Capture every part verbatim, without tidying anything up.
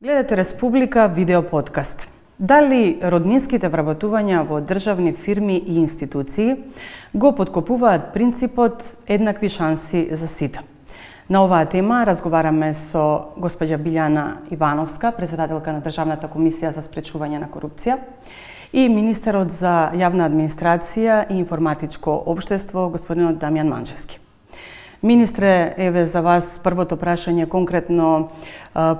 Гледате Республика видео подкаст. Дали роднинските вработувања во државни фирми и институции го поткопуваат принципот еднакви шанси за сите? На оваа тема разговараме со госпоѓа Билјана Ивановска, председателка на Државната комисија за спречување на корупција, и министерот за јавна администрација и информатичко општество, господинот Дамјан Манчевски. Министре, еве за вас првото прашање конкретно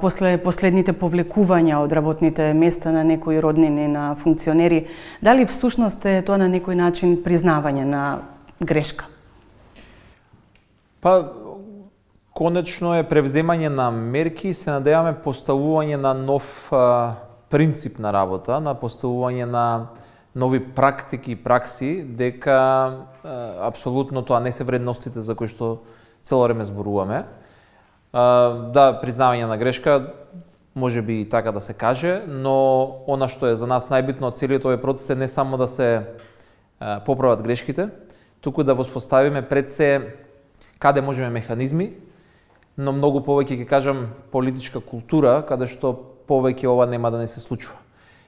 после последните повлекувања од работните места на некои роднини на функционери, дали всушност е тоа на некој начин признавање на грешка? Па, конечно е превземање на мерки и се надеваме поставување на нов а, принцип на работа, на поставување на нови практики и пракси, дека а, апсолутно тоа не се вредностите за кои што цело време зборуваме. А, да, признавање на грешка, може би и така да се каже, но она што е за нас најбитно од целиот овој процес е не само да се а, поправат грешките, туку да воспоставиме пред се каде можеме механизми, но многу повеќе ќе кажам политичка култура, каде што повеќе ова нема да не се случува.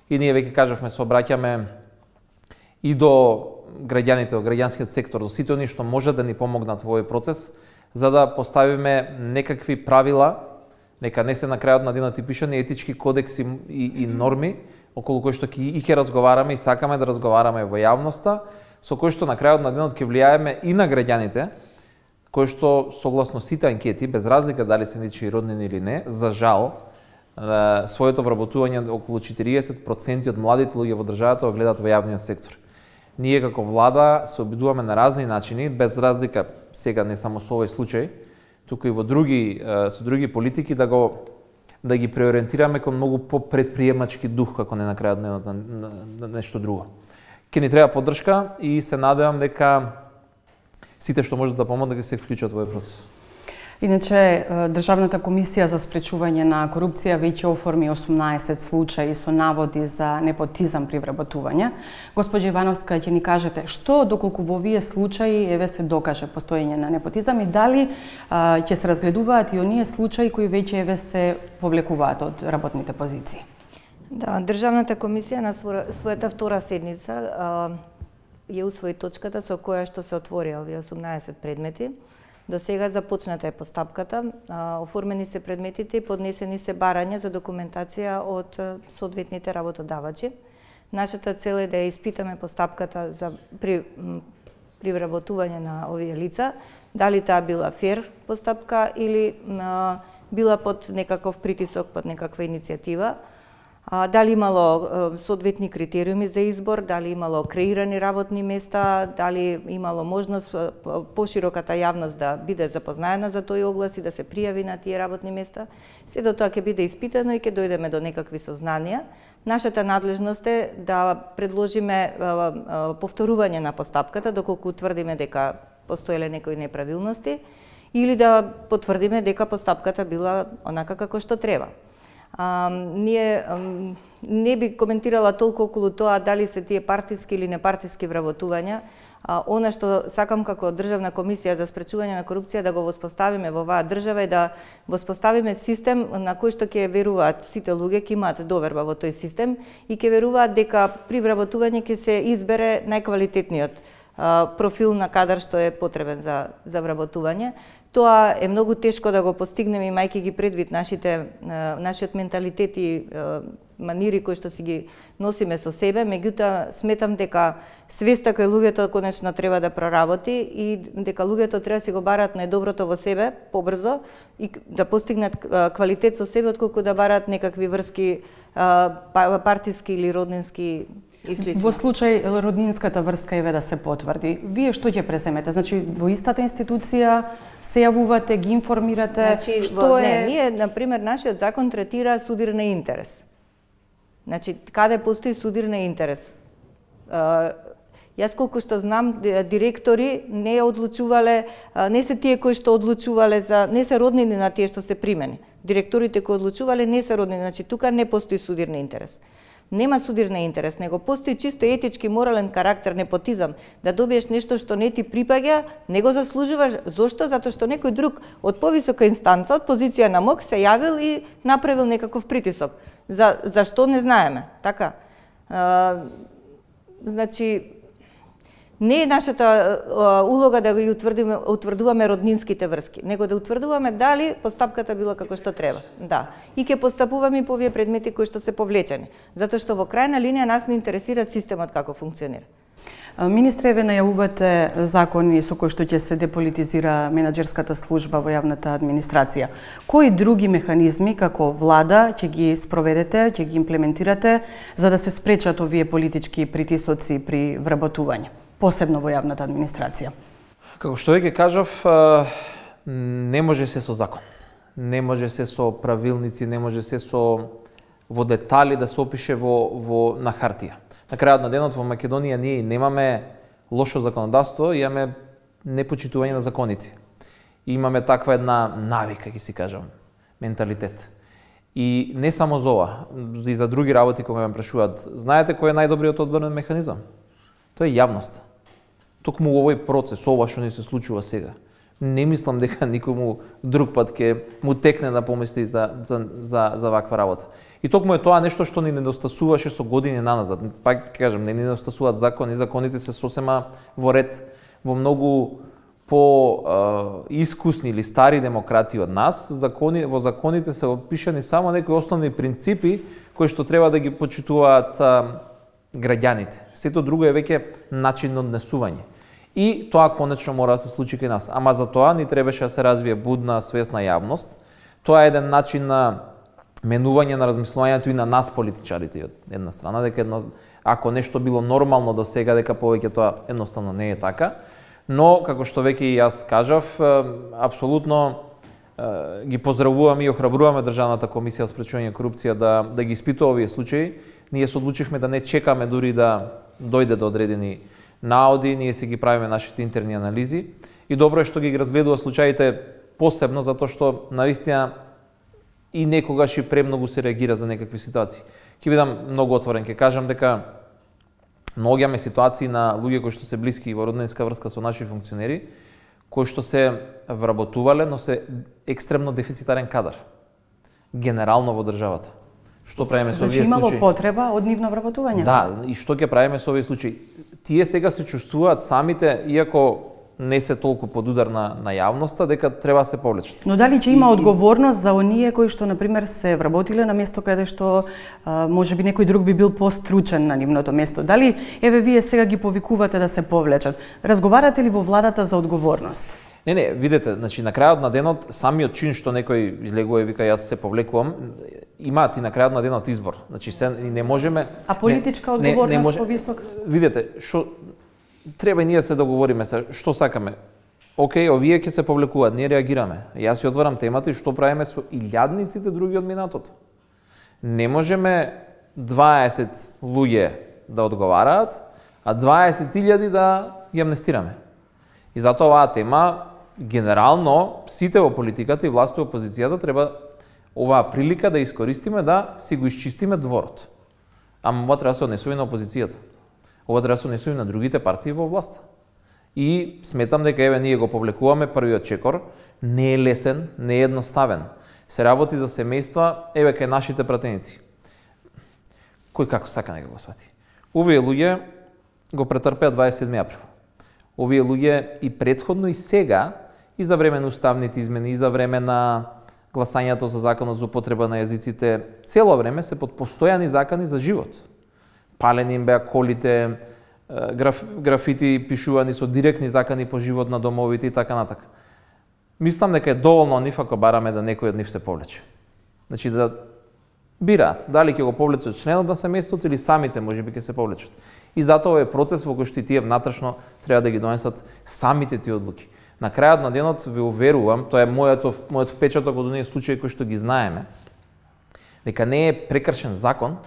И ние веќе кажавме, се обраќаме и до граѓаните, од граѓанскиот сектор, до сите оние што можат да ни помогнат во овој процес, за да поставиме некакви правила, нека не се на крајот на денот и пишани етички кодекси и, и норми, околу кои што ќе и ќе разговараме и сакаме да разговараме во јавноста, со кои што на крајот на денот ќе влијаеме и на граѓаните, кои што согласно сите анкети, без разлика дали се ничии роднини или не, за жал, своето вработување околу четириесет проценти од младите луѓе во државата го гледаат во јавниот сектор. Ние како влада се обидуваме на разни начини, без разлика сега не само со овој случај, туку и во други со други политики да го да ги преориентираме кон многу попредприемачки дух, како не на крајот на, на, на, на нешто друго. Ке ни треба поддршка и се надевам дека сите што можат да помогнат да се вклучат во овој процес. Иначе, Државната комисија за спречување на корупција веќе оформи осумнаесет случаи со наводи за непотизам при вработување. Господја Ивановска, ќе ни кажете што доколку во овие случаи еве се докаже постоење на непотизам и дали а, ќе се разгледуваат и оние случаи кои веќе еве се повлекуваат од работните позиции? Да, Државната комисија на својата втора седница а, ја усвои точката со која што се отворија овие осумнаесет предмети. До сега започната е постапката, оформени се предметите и поднесени се барања за документација од соодветните работодавачи. Нашата цел е да ја испитаме постапката за при, при вработување на овие лица, дали таа била фер постапка или а, била под некаков притисок, под некаква иницијатива. Дали имало соодветни критериуми за избор, дали имало креирани работни места, дали имало можност пошироката јавност да биде запознаена за тој оглас и да се пријави на тие работни места. Сето тоа ќе биде испитано и ќе дојдеме до некакви сознанија. Нашата надлежност е да предложиме повторување на постапката доколку утврдиме дека постоеле некои неправилности или да потврдиме дека постапката била онака како што треба. А, ние а, не би коментирала толку околу тоа дали се тие партиски или непартиски вработувања. А, она што сакам како Државна комисија за спречување на корупција да го воспоставиме во оваа држава е да воспоставиме систем на кој што ќе веруваат сите луѓе, ќе имаат доверба во тој систем и ќе веруваат дека при вработување ќе се избере најквалитетниот а, профил на кадар што е потребен за за вработување. Тоа е многу тешко да го постигнеме имајќи ги предвид нашите нашиот менталитет и манири кои што си ги носиме со себе, меѓутоа сметам дека свеста кај луѓето конечно треба да проработи и дека луѓето треба да си го бараат најдоброто во себе побрзо и да постигнат квалитет со себе отколку да бараат некакви врски партиски или роднински. Во случај роднинската врска еве да се потврди, вие што ќе преземете? Значи во истата институција се јавувате, ги информирате? Значи, што во, е... не, ние на пример нашиот закон третира судир на интерес. Значи каде постои судир на интерес? А, јас колку што знам, директори не одлучувале, не се тие кои што одлучувале за, не се роднини на тие што се примени. директорите кои одлучувале не се родни, значи тука не постои судирен интерес. Нема судирен интерес, него постои чисто етички, морален карактер, непотизам, да добиеш нешто што не ти припаѓа, не го заслужуваш. Зошто? Затоа што некој друг од повисока инстанца, од позиција на МОК, се јавил и направил некаков притисок. За зашто не знаеме, така? А, значи, не е нашата а, улога да ги утврдиме, утврдуваме роднинските врски, него да утврдуваме дали постапката била како што треба. Да. И ќе постапуваме и по овие предмети кои што се повлечени, затоа што во крајна линија нас не интересира системот како функционира. Министре, ве најавувате закони со кои што ќе се деполитизира менаџерската служба во јавната администрација. Кои други механизми како влада ќе ги спроведете, ќе ги имплементирате за да се спречат овие политички притисоци при вработување, посебно во јавната администрација? Како што веќе кажав, не може се со закон. Не може се со правилници, не може се со во детали да се опише во, во на хартија. На крајот на денот во Македонија ние немаме лошо законодавство, имаме непочитување на законите. И имаме таква една навика, ќе си кажам, менталитет. И не само за ова, и за други работи кога ме прашуваат, знаете кој е најдобриот одборен механизам? Тоа е јавноста. Токму овој процес, ова што ни се случува сега, не мислам дека никому друг пат ќе му текне да помисли за, за, за, за ваква работа. И токму е тоа нешто што ни недостасуваше со години наназад. Пак кажам, не ни недостасуваат закони, законите се сосема во ред. Во многу по е, искусни или стари демократи од нас, закони, во законите се опишани само некои основни принципи кои што треба да ги почитуваат е, граѓаните. Сето друго е веќе начин на однесување. И тоа конечно мора да се случи кај нас. Ама за тоа ни требаше да се развие будна, свесна јавност. Тоа е еден начин на менување на размислувањето и на нас политичарите од една страна, дека едно, ако нешто било нормално до сега, дека повеќе тоа едноставно не е така. Но, како што веќе и јас кажав, апсолутно ги поздравуваме и охрабруваме Државната комисија за спречување корупција да, да ги испитува овие случаи. Ние се одлучивме да не чекаме дури да дојде до одредени наоди, ние си ги правиме нашите интерни анализи. И добро е што ги разгледува случаите посебно, затоа што навистина и некогаш и премногу се реагира за некакви ситуации. Ќе бидам многу отворен, ќе кажам дека многу имаме ситуации на луѓе кои што се блиски во роднинска врска со наши функционери, кои што се вработувале, но се екстремно дефицитарен кадар. Генерално во државата. Што правиме со овие случаи? Значи имало потреба од нивно вработување? Да, и што ќе правиме со овие случаи? Тие сега се чувствуваат самите, иако не се толку под удар на, на јавноста, дека треба да се повлечат. Но дали ќе има и, одговорност за оние кои што, например, се вработиле на место каде што а, може би некој друг би бил постручен на нивното место? Дали, еве, вие сега ги повикувате да се повлечат? Разговарате ли во владата за одговорност? Не, не, видете, значи на крајот на денот самиот чин што некој излегува и вика јас се повлекувам, имаат и на крајот на денот избор. Значи се не можеме. А политичка не, одговорност не, не може, повисок? Видете, што треба и ние се договориме се што сакаме. Океј, овие ќе се повлекуваат, ние реагираме. Јас ја отварам темата и што правиме со илјадниците други од минатото. Не можеме дваесет луѓе да одговараат, а дваесет илјади да ги амнестираме. И затоа оваа тема генерално сите во политиката и власт и опозицијата треба оваа прилика да искористиме да си го исчистиме дворот. Ама ова треба да се однесува на опозицијата. Ова треба да се однесува на другите партии во власта. И сметам дека еве ние го повлекуваме првиот чекор, не е лесен, не е едноставен. Се работи за семејства, еве кај нашите пратеници. Кој како сака нека го свати. Овие луѓе го претрпеа дваесет и седми април. Овие луѓе и претходно и сега, и за време на уставните измени, и за време на гласањето за законот за употреба на јазиците, цело време се под постојани закони за живот. Палени им беа колите, граф, графити пишувани со директни закони по живот на домовите и така натака. Мислам дека е доволно нив ако бараме да некој од нив се повлече. Значи да бираат дали ќе го повлечат членот на семејството или самите можеби ќе се повлечат. И затоа е процес во кој што и тие внатрешно треба да ги донесат самите тие одлуки. На крајот на денот ве уверувам, тоа е мојот мојот впечаток од оние случаи кои што ги знаеме, дека не е прекршен закон.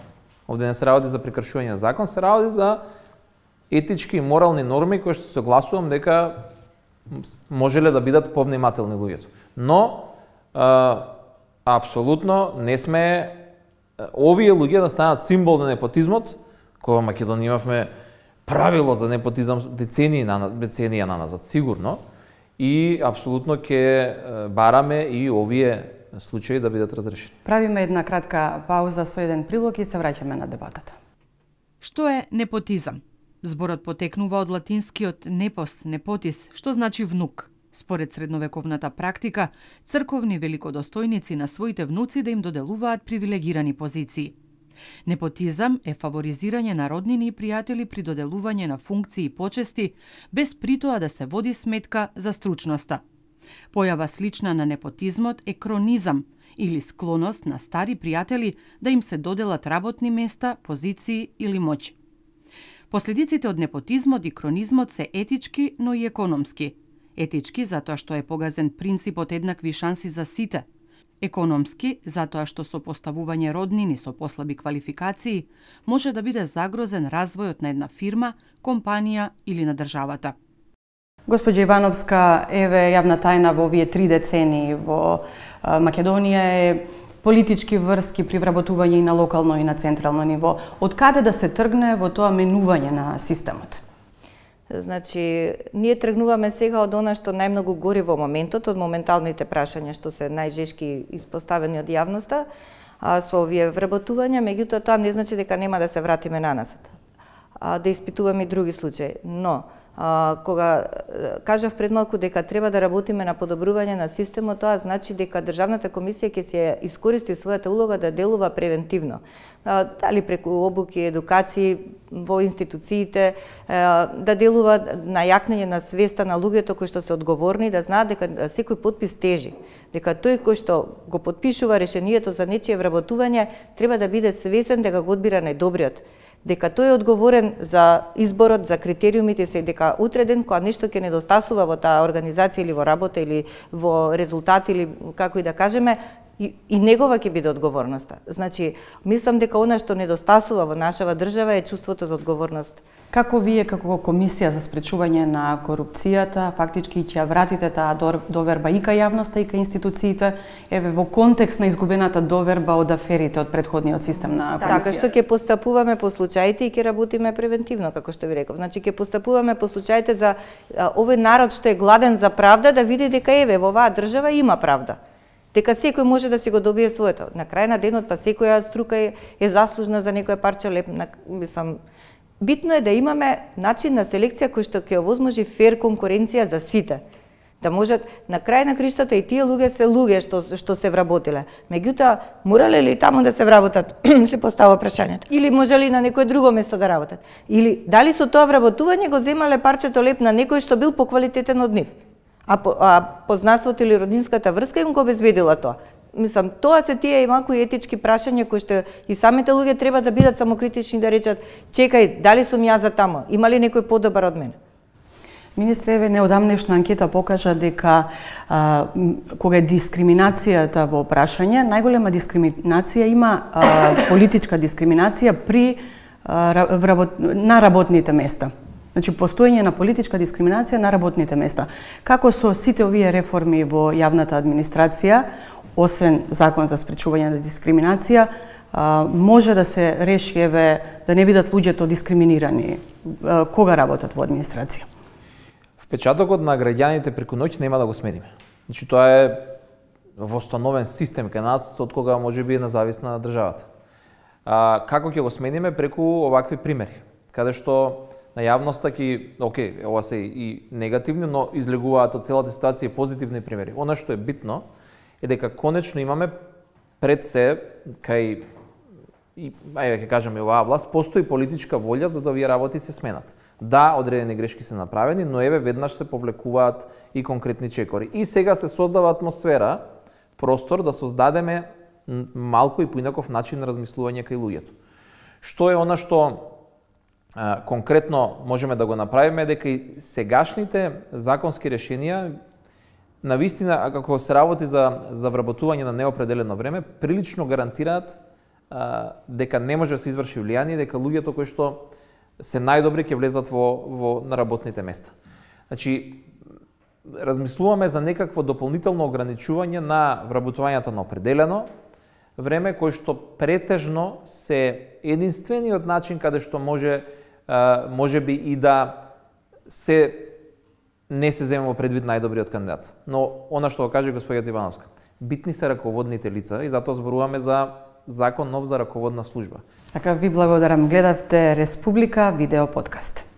Овде не се работи за прекршување на закон, се работи за етички и морални норми кои што се гласувам дека можеле да бидат повнимателни луѓето. Но а, Апсолутно не сме овие луѓе да станат символ за непотизмот, кога во Македонија имавме правило за непотизам децении на деценија на назад сигурно, и апсолутно ќе бараме и овие случаи да бидат разрешени. Правиме една кратка пауза со еден прилог и се враќаме на дебатата. Што е непотизам? Зборот потекнува од латинскиот непос, непотис, што значи внук. Според средновековната практика, црковни великодостојници на своите внуци да им доделуваат привилегирани позиции. Непотизам е фаворизирање на роднини и пријатели при доделување на функции и почести, без притоа да се води сметка за стручноста. Појава слична на непотизмот е кронизам, или склоност на стари пријатели да им се доделат работни места, позиции или моќ. Последиците од непотизмот и кронизмот се етички, но и економски. Етички затоа што е погазен принципот еднакви шанси за сите. Економски затоа што со поставување роднини со послаби квалификации може да биде загрозен развојот на една фирма, компанија или на државата. Госпоѓа Ивановска, еве јавна тајна во овие три децении во Македонија е политички врски при вработување и на локално и на централно ниво. Од каде да се тргне во тоа менување на системот? Значи, ние тргнуваме сега од она што најмногу гори во моментот, од моменталните прашања што се најжешки испоставени од јавноста, а со овие вработувања, меѓутоа тоа не значи дека нема да се вратиме наназад, а да испитуваме и други случаи. Но, а, кога кажав пред малку дека треба да работиме на подобрување на системот, тоа значи дека Државната комисија ќе се искористи својата улога да делува превентивно. А, дали преку обуки, едукации во институциите, да делува на јакнење на свеста на луѓето кои што се одговорни, да знаат дека секој подпис тежи, дека тој кој што го подпишува решението за нечие вработување треба да биде свесен дека го одбира најдобриот, дека тој е одговорен за изборот, за критериумите се, дека утре ден кога нешто ќе недостасува во таа организација или во работа или во резултат или како и да кажеме, и, и негова ќе биде одговорноста. Значи, мислам дека она што недостасува во нашава држава е чувството за одговорност. Како вие, како Комисија за спречување на корупцијата, фактички ќе ја вратите таа доверба и кај јавноста и кај институциите, еве во контекст на изгубената доверба од аферите од претходниот систем на Комисија? Така што ќе постапуваме по случаите и ќе работиме превентивно, како што ви реков. Значи ќе постапуваме по случаите за а, овој народ што е гладен за правда да види дека еве во оваа држава има правда. Дека секој може да си го добие своето. На крај на денот па секоја струка е, е заслужна за некоја парче леп, на, мислам, битно е да имаме начин на селекција кој што ќе овозможи фер конкуренција за сите. Да можат на крај на криштата и тие луѓе се луѓе што што се вработиле. Меѓутоа, морале ли таму да се вработат? Се постава прашањето. Или може ли на некое друго место да работат? Или дали со тоа вработување го земале парчето леп на некој што бил поквалитетен од нив? А, по, а познанството или роднинската врска им го обезбедила тоа. Мислам, тоа се тие и малку етички прашања кои што и самите луѓе треба да бидат самокритични да речат: чекај, дали сум ја за тамо? Има ли некој подобар од мене? Министре, еве неодамнешна анкета покажа дека а, кога е дискриминацијата во прашање, најголема дискриминација има а, политичка дискриминација при а, вработ... на работните места. Значи, постоење на политичка дискриминација на работните места. Како со сите овие реформи во јавната администрација, освен закон за спречување на дискриминација, може да се реши, еве, да не бидат луѓето дискриминирани кога работат во администрација? Впечатокот на граѓаните преку ноќ нема да го смениме. Значи, тоа е востановен систем кај нас, од кога може би е независна државата. А, како ќе го смениме? Преку овакви примери, каде што на јавноста ќе, окей, ова се и негативни, но излегуваат од целата ситуација и позитивни примери. Она што е битно е дека конечно имаме пред се кај и ајде ќе кажеме оваа власт постои политичка волја за да овие работи се сменат. Да, одредени грешки се направени, но еве веднаш се повлекуваат и конкретни чекори. И сега се создава атмосфера, простор да создадеме малку и поинаков начин на размислување кај луѓето. Што е она што а, конкретно можеме да го направиме, дека и сегашните законски решенија на вистина, како се работи за, за вработување на неопределено време, прилично гарантираат а, дека не може да се изврши влијание, дека луѓето кои што се најдобри ќе влезат во, во на работните места. Значи, размислуваме за некакво дополнително ограничување на вработувањето на определено време, кој што претежно се единствениот начин каде што може може би и да се не се земе во предвид најдобриот кандидат. Но она што го каже господјата Ивановска, битни се раководните лица и затоа зборуваме за закон нов за раководна служба. Така ви благодарам. Гледавте Республика видео подкаст.